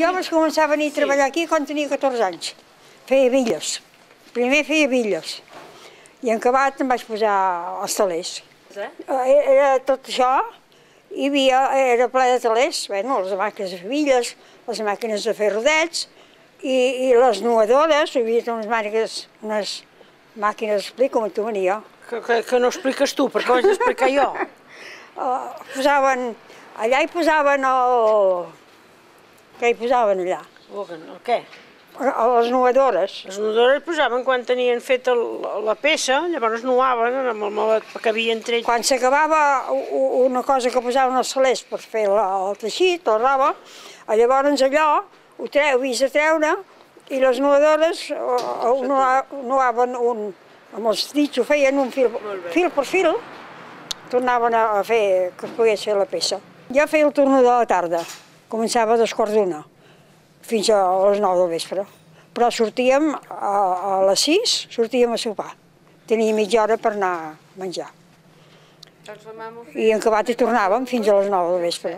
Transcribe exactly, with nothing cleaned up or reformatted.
Jo vaig començar a venir a treballar aquí quan tenia catorze anys. Feia bitlles. Primer feia bitlles. I en acabat em vaig posar als telers. Era tot això, hi havia, era ple de telers, bueno, les màquines de fer bitlles, les màquines de fer rodets, i, i les nuadores, hi havia unes màquines, unes màquines, explico-me tu, venia. Que, que, que no expliques tu, perquè ho haig d'explicar jo. Uh, posaven, allà hi posaven el... Què hi posaven allà? El què? Les nuadores. Les nuadores posaven quan tenien fet el, la peça, llavors nuaven amb el malet que havia entre ells. Quan s'acabava una cosa que posaven els salers per fer el, el teixit, la roba, llavors allò ho treu, havies de treure i les nuadores nuaven un, amb els dits ho feien un fil, fil per fil, tornaven a fer que es pogués fer la peça. Jo feia el torn de la tarda. Començava a dos quarts d'una, fins a les nou del vespre. Però sortíem a, a les sis, sortíem a sopar. Tenia mitja hora per anar a menjar. I en acabat hi tornàvem fins a les nou del vespre.